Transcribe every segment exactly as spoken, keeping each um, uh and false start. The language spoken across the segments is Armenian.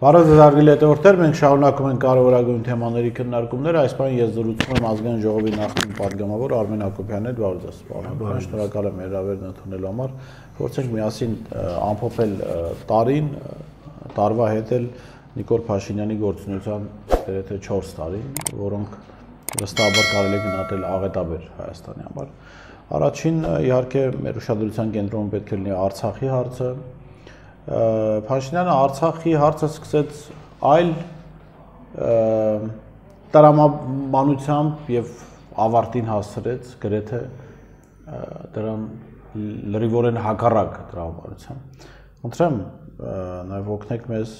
Բարև ձեզ հարգելի հետևորդներ, մենք շարունակում ենք կարևորագույն թեմաների քննարկումները, այս բանը ես զրուցում եմ ազգային ժողովի նախկին պատգամավոր Արմեն Հակոբյանն հետ, բարև ձեզ, պարոն, շնորհակալ եմ հրավերն ընդունելու համար, փորձենք միասին ամփոփել տարին, տարվա հետ էլ Նիկոլ Փաշինյանի գործունեության գրեթե չորս տարի, որոնք վստահաբար կարելի է գնահատել աղետաբեր Հայաստանի համար։ Առաջին իհարկե մեր ուշադրության կենտրոնում պետք է լինի Արցախի հարցը։ Փաշինյանը Արցախի հարցը սկսեց այլ տրամաբանությամբ եւ ավարտին հասցրեց գրեթե դրան լրիվորեն հակառակ տրամաբանությամբ։ Խնդրեմ նաեւ օգնեք մեզ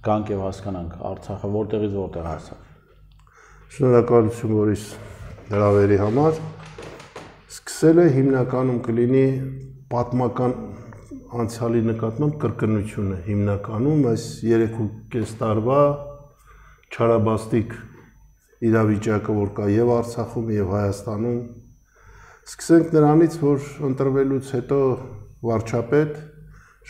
գանք եւ հասկանանք Արցախը որտեղից որտեղ հասավ։ Շնորհակալություն Բորիս հրավերի համար։ Սկսել է հիմնականում կլինի պատմական անցյալի նկատմամբ կրկնությունը հիմնականում այս երեք ու կես տարվա չարաբաստիկ իրավիճակը, որ կա եւ Արցախում եւ Հայաստանում։ Սկսենք նրանից, որ ընտրվելուց հետո վարչապետ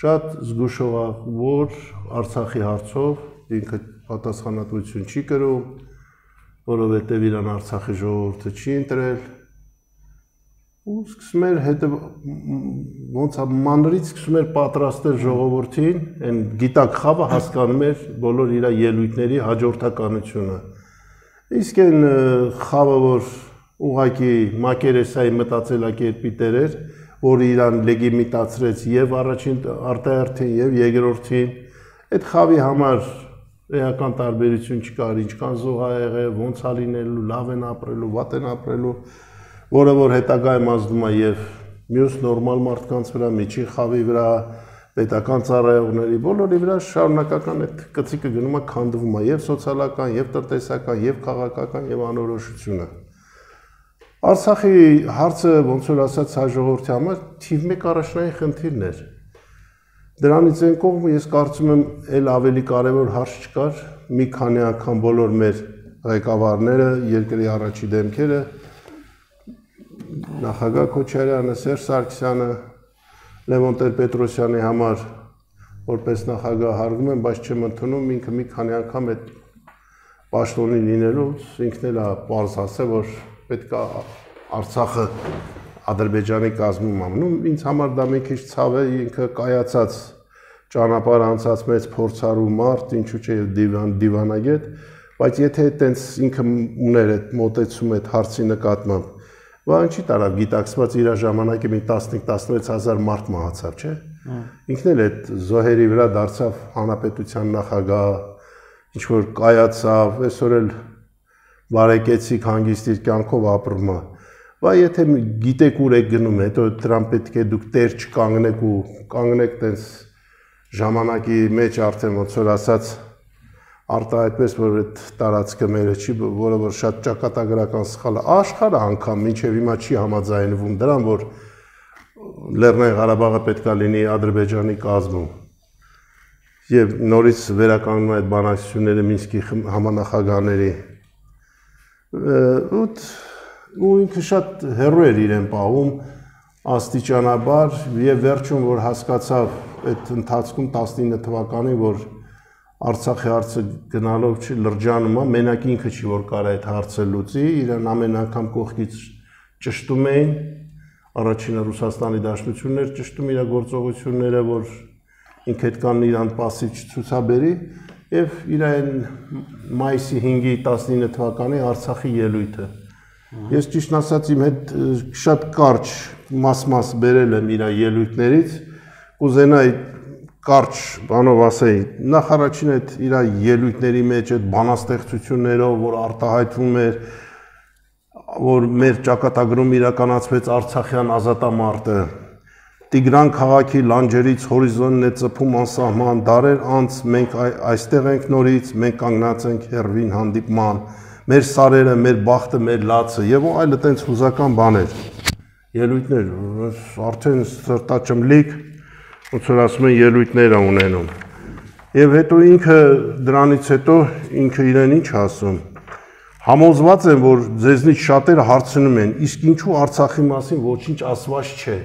շատ զգուշ եղավ, որ Արցախի հարցով ինքը պատասխանատվություն չի կրում, որովհետեւ իրան Արցախի ժողովուրդը չի ընտրել։ Ու սկսում էր հետը ոնց է մանրից սկսում էր պատրաստել ժողովրդին, այն գիտակ խավը հասկանում էր բոլոր իր ելույթների հաջորդականությունը։ Իսկ այն խավը, որ ուղղակի մակերեսայի մտածելակերպի տեր էր, որ իրան լեգիմիտացրեց եւ առաջին արտահերթին եւ երկրորդին, այդ խավի համար էական տարբերություն չկար, ինչքան զոհ ա եղել, ոնց ա լինելու, լավ են ապրելու, վատ են ապրելու, որը որ հետագայում ազդում է եւ մյուս նորմալ մարդկանց վրա, միջին խավի վրա, պետական ծառայողների, բոլորի վրա շարունակական այդ կծիկը գնում է քանդվում է եւ սոցիալական, եւ տնտեսական, եւ քաղաքական, եւ անորոշությունը։ Արցախի հարցը ոնց որ ասած հայ ժողովրդի համար թիվ մեկ առաջնային խնդիրն էր։ Դրանից այն կողմը ես կարծում եմ այլ ավելի կարևոր հարց չկար, մի քանի անգամ բոլոր մեր ղեկավարները, երկրի առաջի դեմքերը նախագահ Քոչարյանը, Սերժ Սարգսյանը, Լևոն Տեր-Պետրոսյանի համար որպես նախագահ հարգում են, բայց չեմ ընդունում, ինքը մի քանի անգամ այդ պաշտոնի լինելուց ինքն էլ է պարզ ասել, որ պետք է Արցախը Ադրբեջանի կազմում ամնում, ինձ համար դա մի քիչ ցավ է, ինքը կայացած ճանապարհ անցած մեծ փորձառու մարդ, ինչու՞ չէ դիվան դիվանագետ, բայց եթե այտենց ինքը ուներ այդ մոտեցում այդ հարցի նկատմամբ, բան չի տարավ գիտակցված իր ժամանակի մի տասնհինգ տասնվեց հազար մարդ մահացավ, չէ՞։ Ինքն էլ այդ զոհերի վրա դարձավ հանրապետության նախագահ, ինչ որ կայացավ, այսօր էլ բարեկեցիկ հանգիստ իր կյանքով ապրում է։ Բա եթե գիտեք ուր եք գնում, հետո դրան պետք է դուք տեր չկանգնեք ու կանգնեք տենց ժամանակի մեջ արդեն ոնց որ ասած արտահայտպես որ այդ տարածքը մերը չի, որը որ շատ ճակատագրական սխալ է, աշխարհը անգամ մինչև հիմա չի համաձայնվում դրան, որ Լեռնային Ղարաբաղը պետք է լինի Ադրբեջանի կազմում։ Եվ նորից վերականգնում այդ բանակցությունները Մինսկի համանախագահների։ Ու ինքը շատ հեռու էր իրեն պահում աստիճանաբար եւ վերջում որ հասկացավ այդ ընթացքում տասնինը թվականին, որ Արցախի հարցը գնալով չի լրջանում է, մենակ ինքը չի որ կարա այդ հարցը լուծի, իրան ամեն անգամ կողքից ճշտում էին, առաջինը Ռուսաստանի Դաշնությունն էր ճշտում իր գործողությունները, որ ինքը այդքան իրան պասիվ չցուցաբերի, եւ իր այն մայիսի հինգի տասնինը թվականի Արցախի ելույթը։ Ես ճիշտ ասած իմ հետ շատ կարճ մաս-մաս բերել եմ իր ելույթներից, կուզենայի կարճ բանով ասեի, նախ առաջին այդ իր ելույթների մեջ այդ բանաստեղծություններով, որ արտահայտվում էր, որ մեր ճակատագրում իրականացվեց Արցախյան ազատամարտը, Տիգրան քաղաքի լանջերից հորիզոնն է ծփում անսահման, դարեր անց մենք այստեղ ենք նորից, մենք կանգնած ենք հերվին հանդիպման, մեր սարերը, մեր բախտը, մեր լացը եւ այլ այդպես հուզական բաներ։ Ելույթներ, արդեն սրտաճմլիկ ոնց որ ասում են ելույթներ է ունենում։ Եվ հետո ինքը դրանից հետո ինքը իրեն ինչ ասում։ Համոզված եմ, որ ձեզնից շատերը հարցնում են, իսկ ինչու Արցախի մասին ոչինչ ասված չէ։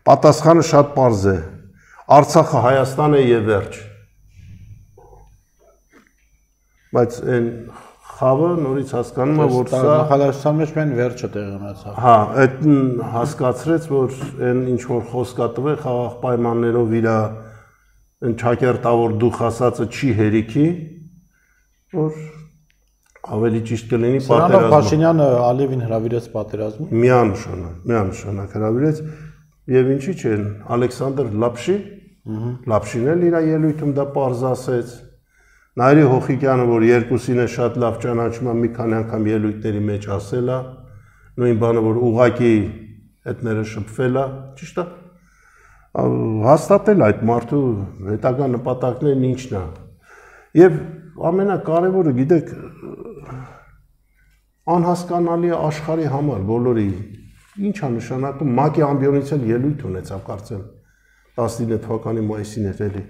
Պատասխանը շատ պարզ է։ Արցախը Հայաստան է եւ վերջ։ բայց այն խավը նորից հասկանում է, որ սա նախագահության մեջ մեն վերջը տեղի ունեցավ։ Հա, այդ հասկացրեց, որ այն ինչ որ խոսք է տվել խաղաղ պայմաններով իր այն ճակերտավոր դուխ ասածը չի հերիքի, որ ավելի ճիշտ կլինի պատերազմը։ Փաշինյանը Ալիևին հրավիրեց պատերազմը։ Միանշանակ, միանշանակ հրավիրեց եւ ինչի՞ չեն Ալեքսանդր Լապշի, Լապշին էլ իր ելույթում դա պարզ ասեց։ Նայրի Հոխիկյանը, որ երկուսին է շատ լավ ճանաչում, մի քանի անգամ ելույթների մեջ ասել է, նույն բանը, որ ուղակի հետները շփվել է, ճիշտ է։ Հաստատել այդ մարդու հետագա նպատակներն ինչն է։ Եվ ամենակարևորը, գիտեք, անհասկանալի է աշխարհի համար բոլորի։ Ինչ է նշանակում ՄԱԿ-ի ամբիոնից էլ ելույթ ունեցավ, կարծեմ տասնինը թվականի մայիսին էր էլի։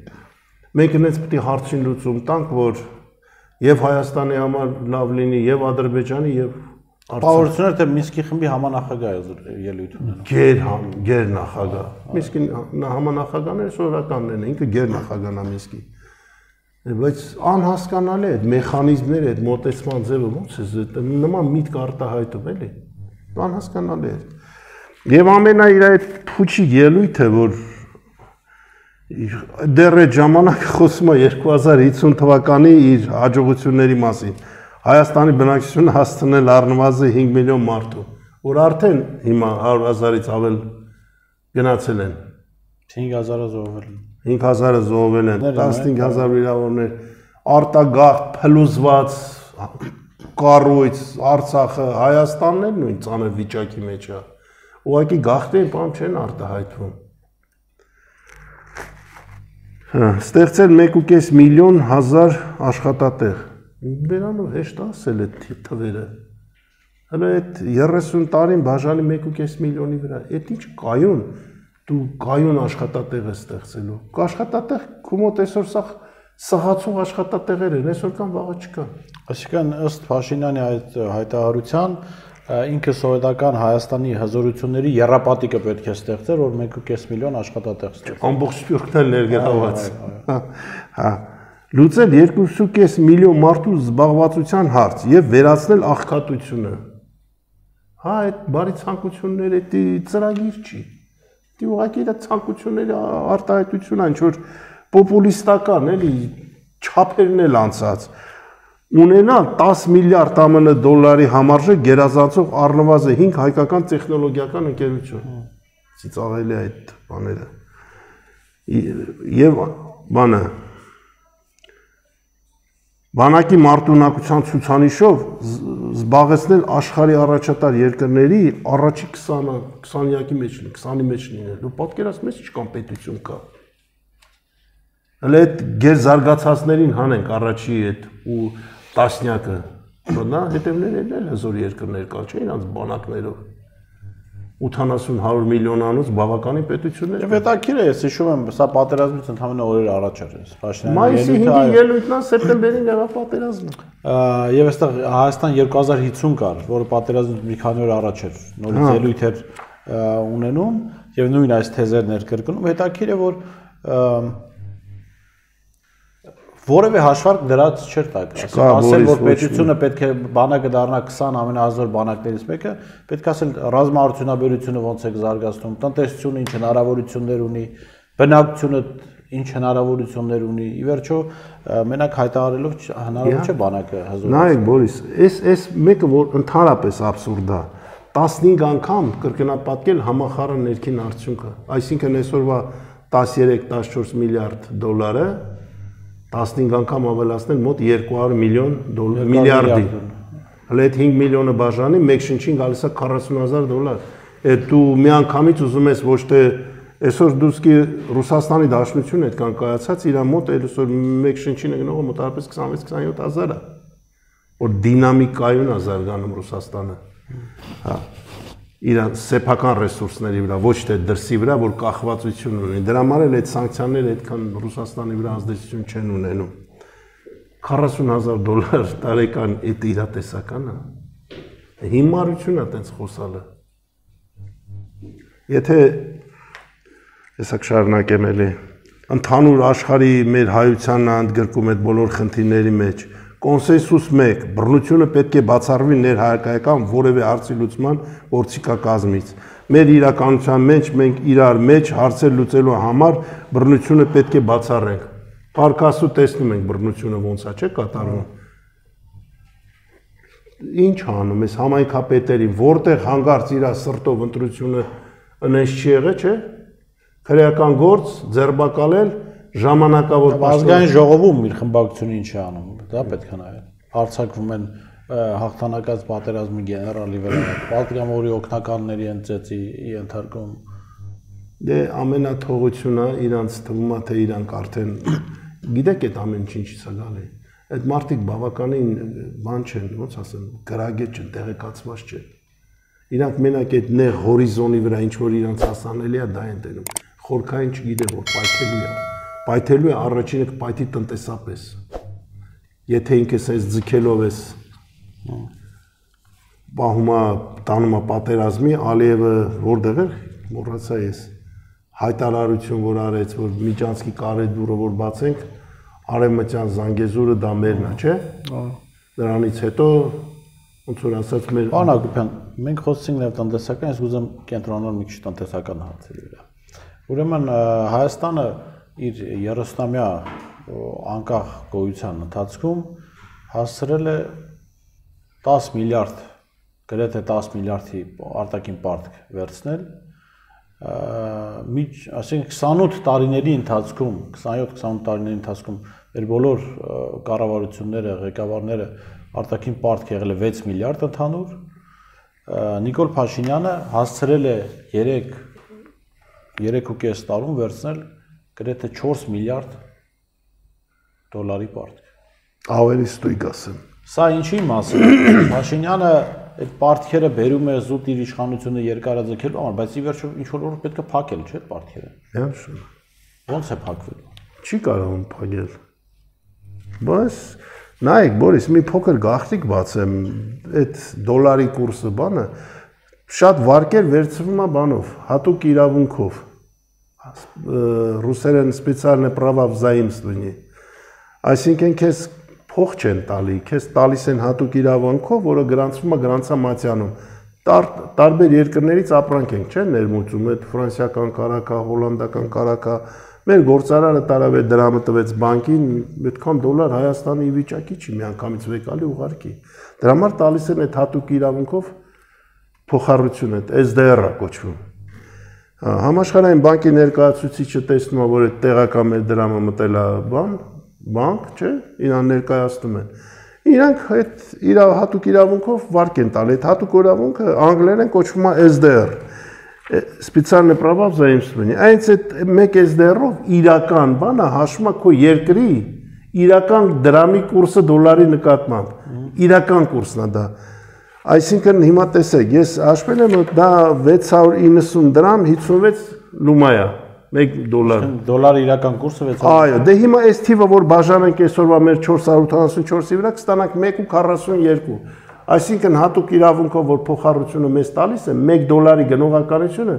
Մենք այնպես պետք է հարցին լուծում տանք, որ եւ Հայաստանի համար լավ լինի, եւ Ադրբեջանի, եւ Պարություններ թե Մինսկի խմբի համանախագահ ելույթ ունենա։ Գեր գեր նախագահ։ Մինսկի համանախագահները սովորականն են, ինքը գեր նախագահն է Մինսկի։ Բայց անհասկանալի է այդ մեխանիզմները, այդ մոտեցման ձևը ո՞նց է նման միտք արտահայտում էլի։ Անհասկանալի է։ Եվ ամենա իր այդ փուչի ելույթը, որ դեռ այդ ժամանակ խոսում է երկու հազար հինգ թվականի իր հաջողությունների մասին։ Հայաստանի բնակչությունը հասցնել առնվազն հինգ միլիոն մարդու, որ արդեն հիմա հարյուր հազարից ավել գնացել են։ հինգ հազարը զոհվել են։ հինգ հազարը զոհվել են, տասնհինգ հազար վիրավորներ, արտագաղթ, փլուզված, կառույց, Արցախը, Հայաստանն էլ նույն ծանր վիճակի մեջ է։ Ուղղակի գաղթի բան չեն արտահայտվում։ Ստեղծել մեկ ու կես միլիոն հազար աշխատատեղ։ Դրանով հեշտ ասել է թվերը։ Հələ այդ երեսուն տարին բաժանի մեկ ու կես միլիոնի վրա, այդ ինչ կայուն, դու կայուն աշխատատեղ ես ստեղծելու։ Աշխատատեղ քո մոտ այսօր սա սահացող աշխատատեղեր են, այսօր կան վաղը չկան։ Այսինքն ըստ Փաշինյանի այդ հայտարարության ինքը սովետական Հայաստանի հզորությունների եռապատիկը պետք է ստեղծեր, որ մեկ ու կես միլիոն աշխատատեղ ստեղծեր։ Ամբողջ Սփյուռքն էլ ներգրաված։ Հա։ Լուծել երկու ու կես միլիոն մարդու զբաղվածության հարց եւ վերացնել աղքատությունը։ Հա, այդ բարի ցանկությունները դա ծրագիր չի։ Դա ուղղակի դա ցանկությունների արտահայտություն է, ինչ որ պոպուլիստական, էլի չափերն էլ անցած։ Ունենալ տասը միլիարդ ԱՄՆ դոլարի համարժեք գերազանցող առնվազն հինգ հայկական տեխնոլոգիական ընկերություն։ Ծիծաղելի է այդ բաները։ Եվ բանը բանակի մարտունակության ցուցանիշով զբաղեցնել աշխարհի առաջատար երկրների առաջի քսանյակի մեջ, քսանի մեջ լինել։ Դու պատկերացնում ես ինչ կոմպետիցիոն կա։ Հələ այդ գերզարգացածներին հանենք առաջի այդ ու տասնյակը, նա հետևներն էլ հզոր երկրներ կա, չէ՞ իրանց բանակներով։ ութանասուն հարյուր միլիոնանոց բավականին պետություններ։ Եվ հետաքրքիր է, ես հիշում եմ, սա պատերազմից ընդհանրապես օրեր առաջ էր։ Մայիսի հինգի ելույթն է, սեպտեմբերին եղավ պատերազմը։ Եվ այստեղ Հայաստան երկու հազար հինգ կար, որը պատերազմից մի քանի օր առաջ էր, նորից ելույթ էր ունենում եւ նույն այս թեզերն էր կրկնում։ Հետաքրքիր է, որ որևէ հաշվարկ դրած չէր տակ։ Ասել, որ պետությունը պետք է բանակը դառնա քսան ամենահզոր բանակներից մեկը, պետք է ասել ռազմաարդյունաբերությունը ոնց է զարգացնում, տնտեսությունը ինչ հնարավորություններ ունի, բնակչությունը ինչ հնարավորություններ ունի։ Ի վերջո մենակ հայտարարելով հնարավոր չէ բանակը հզոր։ Նայեք, Բորիս, այս այս մեկը որ ընդհանրապես абսուրդ է։ տասնհինգ անգամ կրկնապատկել համախառն ներքին արդյունքը, այսինքն այսօրվա տասներեք տասնչորս միլիարդ դոլարը տասնհինգ անգամ ավելացնել մոտ երկու հարյուր միլիոն դոլար միլիարդի։ Հələ այդ հինգ միլիոնը բաժանի մեկ շնչին գալիս է քառասուն հազար դոլար։ Այդ դու միանգամից ուզում ես ոչ թե այսօր դուսկի Ռուսաստանի Դաշնությունը այդքան կայացած իր մոտ այսօր մեկ շնչին է գնողը մոտավորապես քսանվեց քսանյոթ հազար է, որ դինամիկայուն է զարգանում Ռուսաստանը։ Հա, իր սեփական ռեսուրսների վրա, ոչ թե դրսի վրա, որ կախվածություն ունի։ Դրա համար էլ այդ սանկցիաները այդքան Ռուսաստանի վրա ազդեցություն չեն ունենում։ քառասուն հազար դոլար տարեկան այդ իրատեսական է։ Հիմարություն է այդպես խոսալը։ Եթե հեսա կշարունակեմ էլի, ընդհանուր աշխարհի մեր հայությանն ընդգրկում այդ բոլոր խնդիրների մեջ կոնսենսուս մեկ, բռնությունը պետք է բացառվի ներհայկայական որևէ հարցի լուծման գործիքակազմից։ Մեր իրականության մեջ մենք իրար մեջ հարցեր լուծելու համար բռնությունը պետք է բացառենք։ Պարկասու տեսնում ենք բռնությունը ոնց է, չէ՞ կատարվում։ Ինչ անում ես համայնքապետերին, որտեղ հանգարց իր սրտով ընտրությունը ընես չի եղել, չէ՞։ Քրեական գործ, ձերբակալել, ժամանակավոր ազգային ժողովում իր խմբակցությունը ինչ է անում, դա պետք է նայել։ Արձակվում են հաղթանակած պատերազմի գեներալի վրա, պատգամավորի օգնականների ընծեցի ենթարկում։ Դե ամենաթողությունը իրանց թվում է, թե իրանք արդեն գիտեք այդ ամեն ինչից է գալի։ Այդ մարդիկ բավականին բան չեն, ոնց ասեմ, գրագետ չեն, տեղեկացված չեն։ Իրանք մենակ այդ նեղ հորիզոնի վրա ինչ որ իրանց հասանելի է, դա են տենում։ Խորքային չգիտե որ պայթելու է։ Պայթելու է առաջինը կպայթի տնտեսապես։ Եթե ինքս այս ձգելով ես բահումա տանումա պատերազմի, Ալիևը որտեղ էր, մոռացա ես, հայտարարություն որ արեց, որ Միջանցքի կարեդուրը որ բացենք, Արևմտյան Զանգեզուրը դա մերն է, չէ՞։ Դրանից հետո ոնց որ ասած մեր Պարոն Հակոբյան, մենք խոսեցինք նաև տնտեսական, ես ուզում կենտրոնալ մի քիչ տնտեսական հարցերի վրա։ Ուրեմն Հայաստանը իր երեսնամյա անկախ գոյության ընթացքում հասցրել է տասը միլիարդ, գրեթե տասը միլիարդի արտաքին պարտք վերցնել, միջ, ասենք քսանութ տարիների ընթացքում, քսանյոթ քսանութ տարիների ընթացքում մեր բոլոր կառավարությունները, ղեկավարները արտաքին պարտք եղել է վեց միլիարդ ընդհանուր, Նիկոլ Փաշինյանը հասցրել է երեք ու կես տարում վերցնել գրեթե չորս միլիարդ դոլարի պարտք։ Ավելի ստույգ ասեմ։ Սա ինչի մասին է։ Փաշինյանը այդ պարտքերը բերում է զուտ իր իշխանությունը երկարաձգելու համար, բայց ի վերջո ինչ որ որ պետք է փակել, չէ՞ պարտքերը։ Իհարկե։ Ոնց է փակվելու։ Չի կարող փակել։ Բայց նայեք, Բորիս, մի փոքր գաղտնիք բացեմ, այդ դոլարի կուրսը բանը շատ վարկեր վերցվում է բանով, հատուկ իրավունքով։ Ռուսերեն սպեցիալնե права взаимствования։ Այսինքն քեզ փող չեն տալի, քեզ տալիս են հատուկ իրավունքով, որը գրանցվում է գրանցամատյանում։ Տարբեր երկրներից ապրանք ենք, չէ՞, ներմուծում, այդ ֆրանսիական կարակա, հոլանդական կարակա, մեր գործարարը տարավ է դրամը տվեց բանկին, այդքան դոլար Հայաստանի ի վիճակի չի միանգամից վեկալի ուղարկի։ Դրա համար տալիս են այդ հատուկ իրավունքով փոխառություն, այդ S D R-ը կոչվում։ Համաշխարհային բանկի ներկայացուցիչը տեսնում է, որ այդ տեղական մեր դրամը մտել է բան, բանկ, չէ՞, իրան ներկայացնում են։ Իրանք այդ իր հատուկ իրավունքով վարկ են տալ, այդ հատուկ իրավունքը անգլերեն կոչվում է S D R, սպեցիալնե права взаимствования։ Այս այդ մեկ S D R-ով իրական բանը հաշվում է քո երկրի իրական դրամի կուրսը դոլարի նկատմամբ։ Իրական կուրսն է դա։ Այսինքն հիմա տեսեք, ես հաշվել եմ, դա վեց հարյուր իննսուն դրամ հիսունվեց լումայա, մեկ դոլար։ Դոլարի իրական կուրսը վեց։ Այո, դե հիմա այս թիվը որ բաժանենք այսօրվա մեր չորս հարյուր ութանասունչորսի վրա կստանանք մեկ ու քառասունյոթ։ Այսինքն հատուկ իրավունքով որ փոխառությունը մեզ տալիս է մեկ դոլարի գնողականությունը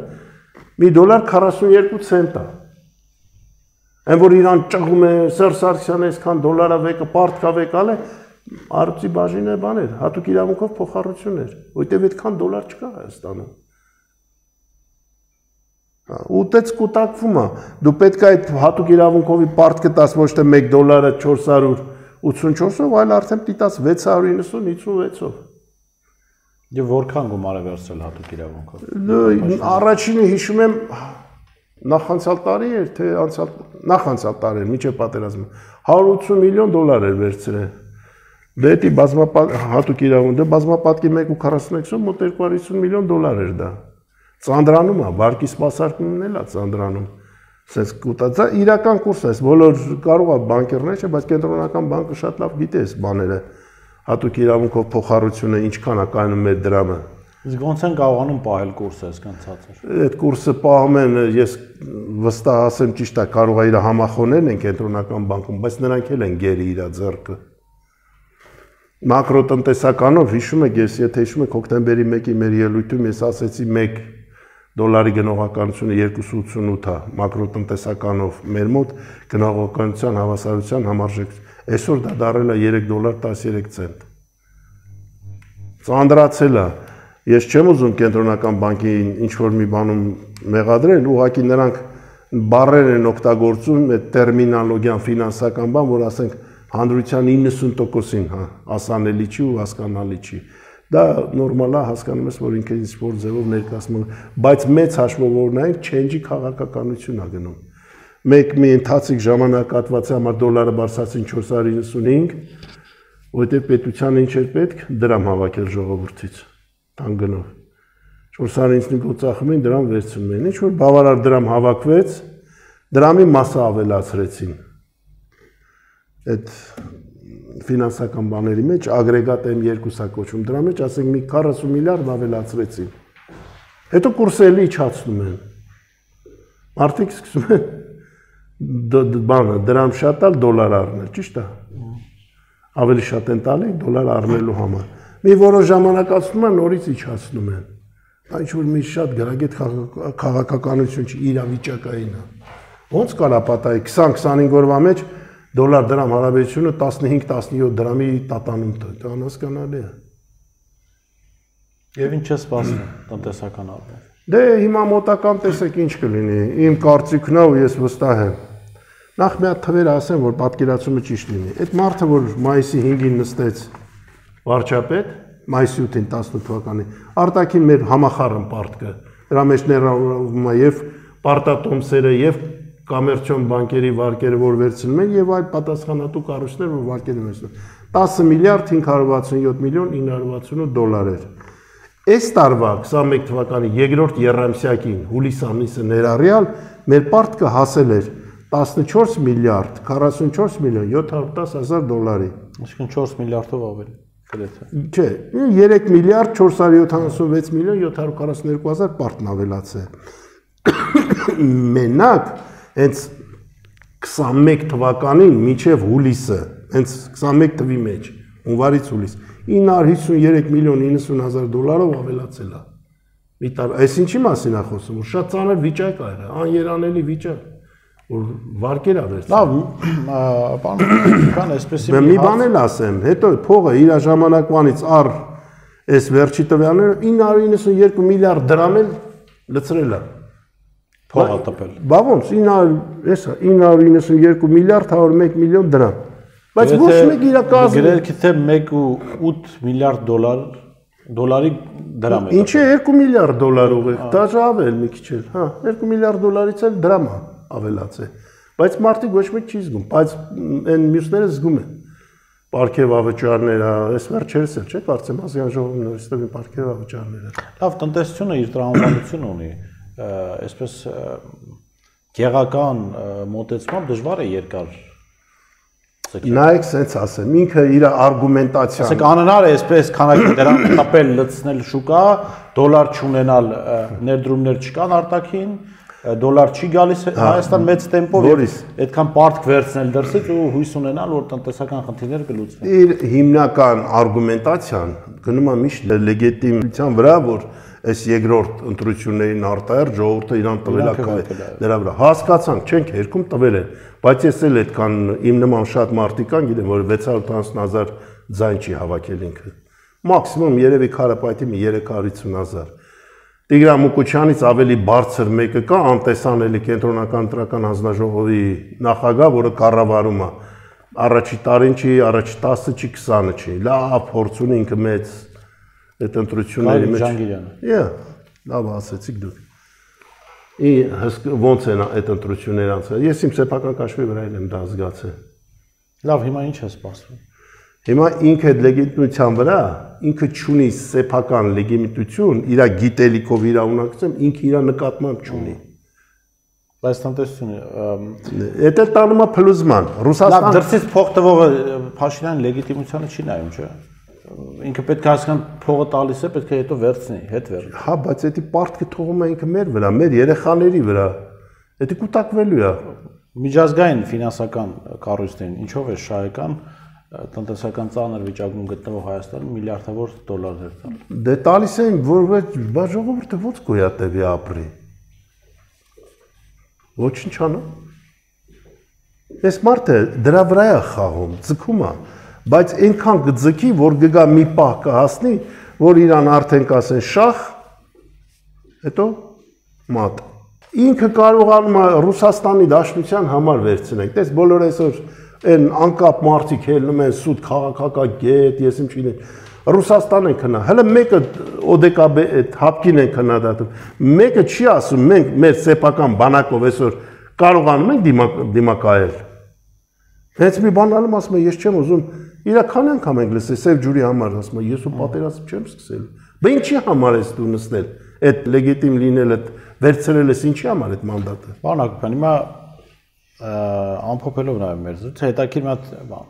մի դոլար քառասունյոթ ցենտ է։ Այն որ իրան ճղում է Սերժ Սարգսյանը այսքան դոլարա վեկը պարտքա վեկալ է, արծի բաժինը բաներ, հատուկ իրավունքով փոխառություն էր, որտեղ այդքան դոլար չկա Հայաստանում։ Ուտեց կուտակվում է, դու պետք է այդ հատուկ իրավունքովի պարտքը տաս ոչ թե մեկ դոլարը չորս հարյուր ութսունչորսով, այլ արդեն դիտաս վեց հարյուր իննսուն հիսունվեցով։ Եվ որքան գումար է վերցրել հատուկ իրավունքով։ Առաջինը հիշում եմ նախանցյալ տարի էր, թե անցյալ նախանցյալ տարի էր, միջև պատերազմը հարյուր ութսուն միլիոն դոլար էր վերցրել։ Դե դի բազմապատ հատուկ իրավունք, դե բազմապատկի մեկ ու քառասունեքսով մոտ երկու հարյուր հիսուն միլիոն դոլար էր դա։ Ծանրանում է, բարկի սպասարկումն էլ է ծանրանում։ Սենց կուտածա իրական կուրս է, բոլոր կարող է բանկերներ չէ, բայց կենտրոնական բանկը շատ լավ գիտի այս բաները։ Հատուկ իրավունքով փոխառությունը ինչքան է կայանում մեր դրամը։ Իսկ ոնց են կարողանում պահել կուրսը այսքան ցածր։ Այդ կուրսը պահում են, ես վստահ ասեմ ճիշտ է, կարող է իր համախոհներն են կենտրոնական բանկում, բայց նրանք էլ են գերի իր ձեռքը։ Մակրոտնտեսականով հիշում եք, ես եթե հիշում եք հոկտեմբերի մեկի մեր ելույթում ես ասեցի մեկ դոլարի գնողականությունը երկուս ութսունութ է, մակրոտնտեսականով մեր մոտ գնողականության հավասարության համարժեք, այսօր դա դարել է երեք դոլար տասներեք ցենտ։ Ծանրացել է, ես չեմ ուզում կենտրոնական բանկին ինչ-որ մի բանում մեղադրել, ուղղակի նրանք բառեր են օգտագործում այդ տերմինոլոգիան ֆինանսական բան, որ ասենք հանրության իննսուն տոկոսին հասանելի չի ու հասկանալի չի։ Դա նորմալ է, հասկանում ես, որ ինքը ինչ-որ ձևով ներկայացնում, բայց մեծ հաշվով նայենք change-ի քաղաքականություն է գնում։ Մեկ մի ընթացիկ ժամանակահատվածի համար դոլարը բարձրացին չորս հարյուր իննսունհինգ, որտեղ պետությանը ինչ էր պետք, դրամ հավաքել ժողովրդից, տան գնով։ չորս հարյուր իննսունհինգ ծախում էին, դրամ վերցնում էին։ Ինչ որ բավարար դրամ հավաքվեց, դրամի մասը ավելացրեցին։ Այդ ֆինանսական բաների մեջ ագրեգատ էմ երկու-ը կոչվում, դրա մեջ ասենք մի քառասուն միլիարդ ավելացրեցին։ Հետո կուրսը էլի իջացնում են։ Մարդիկ սկսում են բանը դրամ շատ տալ, դոլար առնել, ճիշտ է։ Ավելի շատ են տալի դոլար առնելու համար։ Մի որոշ ժամանակ անցնում է, նորից իջացնում են։ Դա ինչ որ մի շատ գրագետ քաղաքականություն չի, իրավիճակային է։ Ոնց կարա պատահի քսան-քսանհինգ օրվա մեջ դոլար դրամ հարաբերությունը տասնհինգ տասնյոթ դրամի տատանում դա անհասկանալի է։ Եվ ինչ է սպասում տնտեսական առումով։ Դե հիմա մոտական տեսեք ինչ կլինի, իմ կարծիքն է ու ես վստահ եմ։ Նախ մի հատ թվեր ասեմ, որ պատկերացումը ճիշտ լինի։ Այդ մարդը, որ մայիսի հինգին նստեց վարչապետ, մայիսի ութին տասնութ թվականի, արտաքին մեր համախառն պարտքը, դրա մեջ ներառվում է եւ պարտատոմսերը եւ կոմերցիոն բանկերի վարկերը, որ վերցնում են եւ այլ պատասխանատու կառույցներ, որ վարկերը վերցնում։ տասը միլիարդ հինգ հարյուր վաթսունյոթ միլիոն ինը հարյուր վաթսունութ դոլար էր։ Այս տարվա քսանմեկ թվականի երկրորդ եռամսյակին հուլիս ամիսը ներառյալ մեր պարտքը հասել էր տասնչորս միլիարդ քառասունչորս միլիոն յոթ հարյուր տասը հազար դոլարի։ Այսինքն չորս միլիարդով ավել գրեթե։ Չէ, երեք միլիարդ չորս հարյուր յոթանասունվեց միլիոն յոթ հարյուր քառասուներկու հազար պարտն ավելացել։ Մենակ հենց քսանմեկ թվականին մինչև հուլիսը, հենց քսանմեկ թվի մեջ, հունվարից հուլիս, ինը հարյուր հիսունյոթ միլիոն իննսուն հազար դոլարով ավելացել է։ Մի տար, այս ինչի մասին է խոսում, որ շատ ծանր վիճակ է, աներանելի վիճակ, որ վարկեր է վերցել։ Լավ, բան, բան այսպես մի բան էլ ասեմ, հետո փողը իր ժամանակվանից առ այս վերջի տվյալները ինը հարյուր իննսունյոթ միլիարդ դրամ էլ լցրել է։ Փողը տպել։ Բա ոնց ինը հարյուր իննսունյոթ միլիարդ հարյուր մեկ միլիոն դրամ։ Բայց ոչ մեկ իր կազմը գրելքի թե մեկ ու ութ միլիարդ դոլար դոլարի դրամ է։ Ինչի երկու միլիարդ դոլար ուղիղ, դա ավել մի քիչ էլ, հա, երկու միլիարդ դոլարից էլ դրամ է ավելացել։ Բայց մարդիկ ոչ մեկ չի զգում, բայց այն մյուսները զգում են։ Պարքև ավճարները, այս վերջերս էլ չէ, կարծեմ ազգային ժողովի նորից տվին պարքև ավճարները։ Լավ, տնտեսությունը իր տրամաբանությունը ունի, այսպես գեղական մոտեցմամբ դժվար է երկար Նայեք, սենց ասեմ, ինքը իր արգումենտացիան։ Ասեք անհնար է այսպես քանակի դրամ տպել լցնել շուկա, դոլար չունենալ, ներդրումներ չկան արտաքին, դոլար չի գալիս Հայաստան մեծ տեմպով, այդքան պարտք վերցնել դրսից ու հույս ունենալ, որ տնտեսական խնդիրները կլուծվեն։ Իր հիմնական արգումենտացիան գնում է միշտ լեգիտիմության վրա, որ այս երկրորդ ընտրություններին արտահայտ ժողովուրդը իրան տվել է դրա վրա։ Հասկացանք, չենք հերքում տվել են, բայց ես էլ այդքան իմ նման շատ մարդիկ կան, գիտեմ, որ վեց հարյուր ութանասուն հազար ձայն չի հավաքել ինքը։ Մաքսիմում երևի քարապայթի մի երեք հարյուր հիսուն հազար։ Տիգրան Մուկուչյանից ավելի բարձր մեկը կա, անտեսանելի կենտրոնական ընտրական հանձնաժողովի նախագահ, որը կառավարում է։ Առաջի տարին չի, առաջի տասը չի, քսանը չի։ Լավ փորձ ունի ինքը մեծ այդ ընտրությունների մեջ։ Իա, լավ ասեցիք դուք։ Ի ոնց են այդ ընտրությունները անցել։ Ես իմ սեփական կաշվի վրա եմ դա զգացել։ Լավ, հիմա ինչ է սպասվում։ Հիմա ինքը այդ լեգիտիմության վրա, ինքը չունի սեփական լեգիտիմություն, իր գիտելիքով իր ունակությամբ ինքը իր նկատմամբ չունի։ Բայց տնտեսությունը Էդ էլ տանում է փլուզման։ Ռուսաստան Լավ, դրսից փող տվողը Փաշինյանի լեգիտիմությանը չի նայում, չէ՞։ Ինքը պետք է հասկան փողը տալիս է, պետք է հետո վերցնի, հետ վերցնի։ Հա, բայց դա պարտքը թողում է ինքը մեր վրա, մեր երեխաների վրա։ Դա կուտակվելու է։ Միջազգային ֆինանսական կառույցներին ինչով է շահեկան տնտեսական ծանր վիճակում գտնվող Հայաստանը միլիարդավոր դոլարներ տալ։ Դե տալիս են, որ բա ժողովուրդը ո՞նց գոյատևի ապրի։ Ոչինչ անում։ Այս մարդը դրա վրա է խաղում, ձգում է, բայց այնքան կձգի, որ գգա մի պահ կհասնի, որ իրան արդեն կասեն շախ, հետո մատ։ Ինքը կարողանում է Ռուսաստանի Դաշնության համար վերցնել։ Տես բոլոր այսօր այն անկապ մարդիկ ելնում են սուտ քաղաքակագետ, ես ինչ չգիտեմ, Ռուսաստան են քնա, հələ մեկը օդեկաբե այդ հապկին են քննադատում, մեկը չի ասում մենք մեր սեփական բանակով այսօր կարողանում ենք դիմակայել։ Հենց մի բան ալում ասում եմ, ես չեմ ուզում, իրական անգամ ենք լսել սև ջուրի համար, ասում եմ, ես ու պատերազմ չեմ սկսել։ Բա ինչի համար ես դու նստել, այդ լեգիտիմ լինելը վերցրել ես ինչի համար այդ մանդատը։ Պարոն Հակոբյան, հիմա ամփոփելով նաև մեր զրույցը, հետաքրքիր մի հատ բան։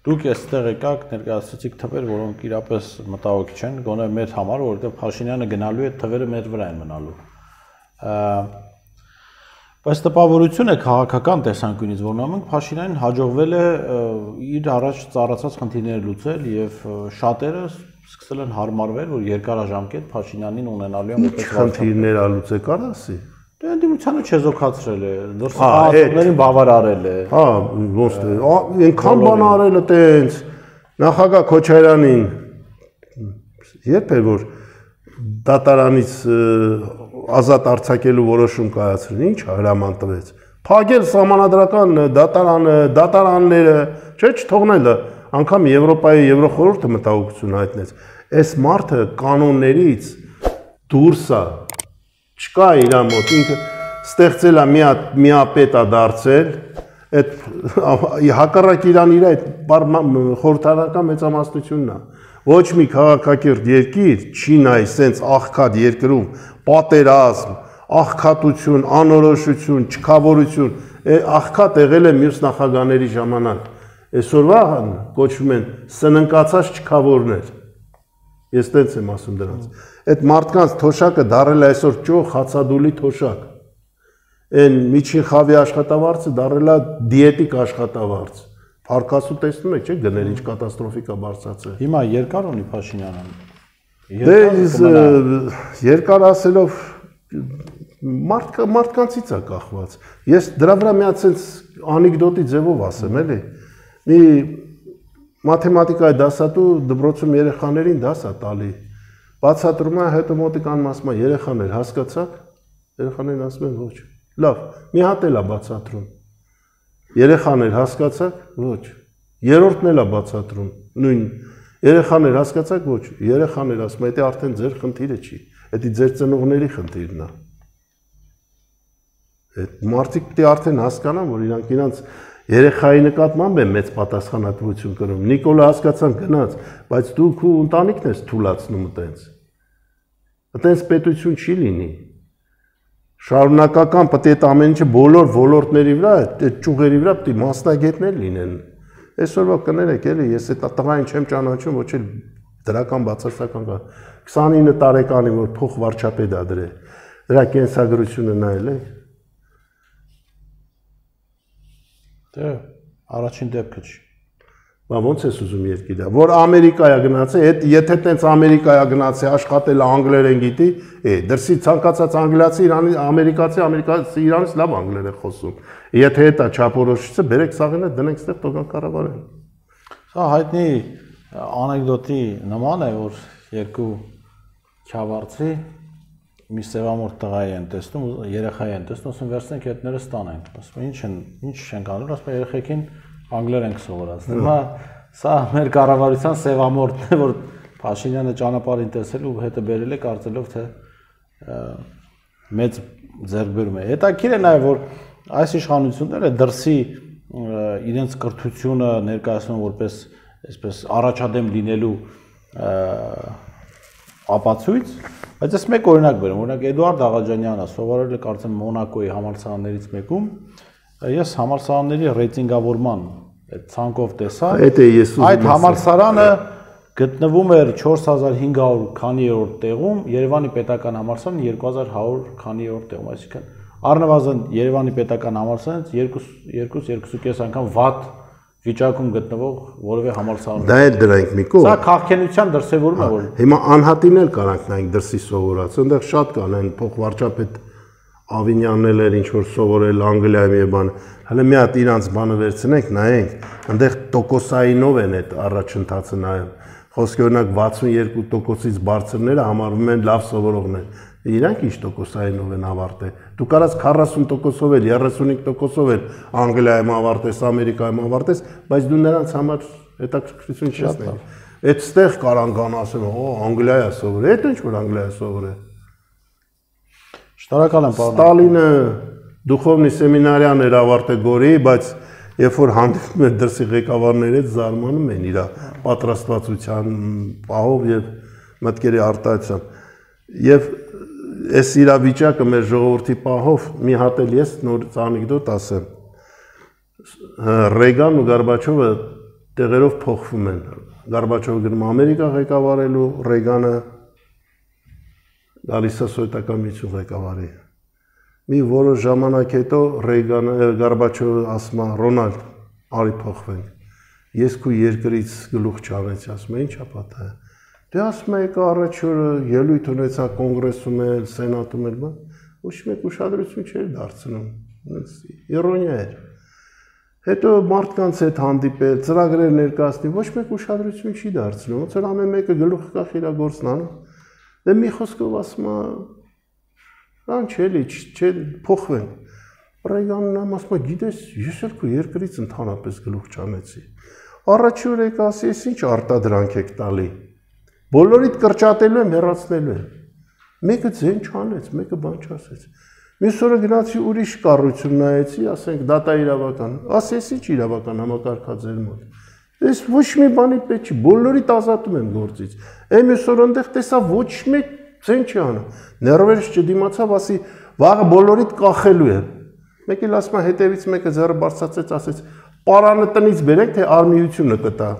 Դուք այստեղ եկաք, ներկայացրեցիք թվեր, որոնք իրապես մտահոգիչ են, գոնե մեր համար, որովհետև Փաշինյանը գնալու է, թվերը մեր վրա են մնալու։ Բայց տպավորություն է քաղաքական տեսանկյունից, որ նույնիսկ Փաշինյանին հաջողվել է իր առաջ ծառացած խնդիրները լուծել եւ շատերը սկսել են հարմարվել, որ երկարաժամկետ Փաշինյանին ունենալու են որպես խնդիրներ ալուծե կար ասի։ Դե ընդդիմությանը չեզոքացրել է, դրսերներին բավարարել է։ Հա, ոնց թե, այնքան բան արել է տենց նախագահ Քոչարյանին երբ էր որ դատարանից ազատ արձակելու որոշում կայացրին, ինչ հրաման տվեց։ Փակել սահմանադրական դատարանը, դատարանները, չէ՞ չթողնելը, անգամ Եվրոպայի Եվրոխորհուրդը մտահոգություն հայտնեց։ Այս մարդը կանոններից դուրս է, չկա իր մոտ, ինքը ստեղծել է մի հատ միապետ է դարձել, այդ հակառակ իրան իր այդ խորհրդարանական մեծամասնությունն է։ Ոչ մի քաղաքակիրթ երկիր չի նայ սենց աղքատ երկրում պատերազմ, աղքատություն, անորոշություն, չքավորություն, աղքատ եղել է մյուս նախագահների ժամանակ։ Այսօրվա կոչվում են սննկացած չքավորներ։ Ես տենց եմ ասում դրանց։ Այդ մարդկանց թոշակը դարել է այսօր ճոխ հացադուլի թոշակ։ Այն միջին խավի աշխատավարձը դարել է դիետիկ աշխատավարձ։ Փարկասու տեսնում եք, չէ՞, գնել ինչ կատաստրոֆիկա բարձրացել։ Հիմա երկար ունի Փաշինյանը։ Դե երկար ասելով մարդ մարդկանցից է կախված։ Ես դրա վրա մի հատ sense անեկդոտի ձևով ասեմ, էլի։ Մի մաթեմատիկայի դասատու դպրոցում երեխաներին դաս է տալի։ Բացատրում է, հետո մոտիկան ասում է երեխաներ հասկացաք։ Երեխաներն ասում են ոչ։ Լավ, մի հատ էլ է բացատրում։ Երեխաներ հասկացաք, ոչ։ Երրորդն էլ է բացատրում, նույն երեխաներ հասկացաք, ոչ։ Երեխաներ ասում են, դա արդեն ձեր խնդիրը չի, դա ձեր ծնողների խնդիրն է։ Այդ մարդիկ պետք է արդեն հասկանան, որ իրանք իրանց երեխայի նկատմամբ են մեծ պատասխանատվություն կրում։ Նիկոլը հասկացան գնաց, բայց դու քո ընտանիքն ես թուլացնում այտենց։ Այտենց պետություն չի լինի։ Շարունակական պետք է ամեն ինչը բոլոր ոլորտների վրա, այդ ճյուղերի վրա պետք է մասնագետներ լինեն։ Այսօրվա կներեք, էլի, ես այդ տղային չեմ ճանաչում, ոչ էլ դրական բացասական կա։ քսանինը տարեկանի որ փող վարչապետ ա դրել։ Դրա կենսագրությունը նայել եք։ Դե առաջին դեպքը չի։ Բա ո՞նց ես ուզում երկիրը, որ Ամերիկայա գնացել, այդ եթե տենց Ամերիկայա գնացել, աշխատել անգլերեն գիտի, է, դրսի ցանկացած անգլիացի, Իրանի ամերիկացի, ամերիկացի Իրանից լավ անգլեր է խոսում։ Եթե դա չափորոշիչը, բերեք սաղինը դնենք ստեղ տոկան կառավարեն։ Սա հայտնի անեկդոտի նման է, որ երկու քյավառցի մի սևամորթ տղայի են տեսնում, երեխայի են տեսնում, ասում վերցնենք հետները ստանենք։ Ասում ինչ են, ինչ չենք անում, ասում երեխեքին անգլեր ենք սովորացնում։ Հիմա սա մեր կառավարության սևամորթն է, որ Փաշինյանը ճանապարհին տեսել ու հետը բերել է կարծելով թե մեծ ձեռքբերում է։ Հետաքրքիր է նաև որ այս իշխանությունները դրսի իրենց կրթությունը ներկայացնում որպես այսպես առաջադեմ լինելու ապացույց, բայց ես մեկ օրինակ բերեմ, օրինակ Էդուարդ Աղաջանյանը սովորել է կարծեմ Մոնակոյի համալսարաններից մեկում, ես համալսարանների ռեյտինգավորման այդ ցանկով տեսա, այդ համալսարանը գտնվում էր չորս հազար հինգ հարյուր քանիերորդ տեղում, Երևանի պետական համալսարանը երկու հազար հարյուր քանիերորդ տեղում, այսինքն առնվազն Երևանի պետական համալսարանից երկու երկու կես անգամ վատ վիճակում գտնվող որևէ համալսարան։ Դա էլ դրանք մի կողմ։ Սա քաղաքենության դրսևորում է, որ հիմա անհատին էլ կարանք նայենք դրսի սովորած, այնտեղ շատ կան այն փոխվարչապետ Ավինյանն էլ ինչ որ սովորել Անգլիայում եւ բան, հələ մի հատ իրանց բանը վերցնենք, նայենք, այնտեղ տոկոսայինով են այդ առաջընթացը նայում։ Խոսքի օրինակ վաթսունեքու տոկոսից բարձրները համարվում են լավ սովորողներ։ Իրանք ինչ տոկոսայինով են ավարտել։ Դու կարաս քառասուն տոկոսով էլ, երեսունհինգ տոկոսով էլ Անգլիայում ավարտես, Ամերիկայում ավարտես, բայց դու նրանց համար հետաքրքրություն չես տալի։ Այդտեղ կարան գան ասեն, օ, Անգլիայա սովորել, այդ ինչ որ Անգլիայա սովորել։ Շնորհակալ եմ, պարոն։ Ստալինը դուխովնի սեմինարիան էր ավարտել Գորի, բայց երբ որ հանդիպում էր դրսի ղեկավարների հետ զարմանում են իր պատրաստվածության պահով եւ մտքերի արտահայտությամբ։ Եվ այս իրավիճակը մեր ժողովրդի պահով մի հատ էլ ես նոր անեկդոտ ասեմ։ Ռեգանն ու Գորբաչովը տեղերով փոխվում են։ Գորբաչովը գնում Ամերիկա ղեկավարելու, Ռեգանը գալիս է սովետական միություն ղեկավարի։ Մի որոշ ժամանակ հետո Ռեգանը Գորբաչովը ասում է Ռոնալդ, արի փոխվենք։ Ես քո երկրից գլուխ չանեցի, ասում է ի՞նչ է պատահել։ Դե ասում եք առաջ օրը ելույթ ունեցա կոնգրեսում էլ, սենատում էլ, բան, ոչ մեկ ուշադրություն չէր դարձնում, իրոնիա էր։ Հետո մարդկանց հետ հանդիպել, ծրագրեր ներկայացնի, ոչ մեկ ուշադրություն չի դարձնում, ոնց որ ամեն մեկը գլուխը կախ իր գործն անում։ Դե մի խոսքով ասում է, «Ան չէ, չէ, փոխվենք»։ Ռեգանն ասում է, գիտես, ես էլ քո երկրից ընդհանրապես գլուխ չանեցի։ Առաջի օր եկա ասի, ես ինչ արտադրանք եք տալի։ Բոլորիդ կրճատելու եմ, հեռացնելու եմ։ Մեկը ձեն չանեց, մեկը բան չասեց։ Մյուս օրը գնացի ուրիշ կառույցում նայեցի, ասենք դատա իրավական, ասես ինչ իրավական համակարգաձեր մոտ։ Ես ոչ մի բանի պետք չի, բոլորիդ ազատում եմ գործից։ Այն մյուս օր այնտեղ տեսա ոչ մեկ ձեն չի անում։ Ներվերս չդիմացավ, ասի վաղը բոլորիդ կախելու եմ։ Մեկ էլ ասում է հետևից մեկը ձեռը բարձրացրեց, ասեց պարանը տնից բերեք, թե արմիությունը կտա։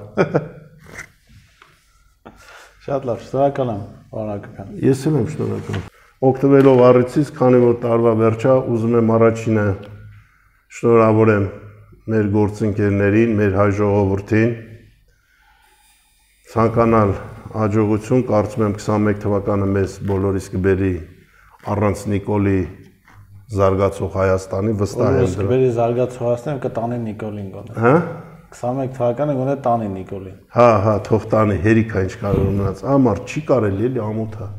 Շատ լավ, շնորհակալ եմ, պարոն Հակոբյան։ Ես էլ եմ շնորհակալ։ Օգտվելով առիթից, քանի որ տարվա վերջա, ուզում եմ առաջինը շնորհավորեմ մեր գործընկերներին, մեր հայ ժողովրդին։ Ցանկանալ հաջողություն, կարծում եմ քսանմեկ թվականը մեզ բոլորիս կբերի առանց Նիկոլի զարգացող Հայաստանի, վստահ եմ դրա։ Կբերի զարգացող Հայաստանը կտանի Նիկոլին գոնե։ Հա? քսանմեկ թվականը գոնե տանի Նիկոլին։ Հա, հա, թող տանի, հերիքա ինչ կարող մնաց։ Ամառ չի կարելի էլի ամոթ է։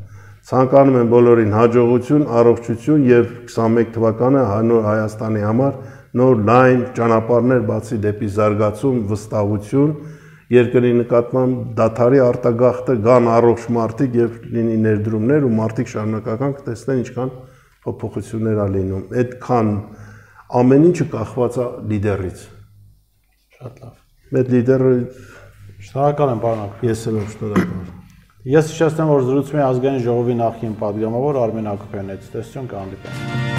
Ցանկանում եմ բոլորին հաջողություն, առողջություն եւ քսանմեկ թվականը նոր Հայաստանի համար նոր լայն ճանապարհներ բացի դեպի զարգացում, վստահություն, երկրի նկատմամբ դաթարի արտագաղթը գան առողջ մարդիկ եւ լինի ներդրումներ ու մարդիկ շարունակական կտեսնեն ինչքան փոփոխություններ ա լինում։ Այդքան ամեն ինչը կախված է լիդերից։ Շատ լավ։ Մեր լիդերը Շնորհակալ եմ, պարոն Հակոբյան։ ես եմ շնորհակալ։ Ես հիշեցնեմ, որ զրուցում եմ ազգային ժողովի նախկին պատգամավոր Արմեն Հակոբյանից։ Տեսություն կհանդիպենք։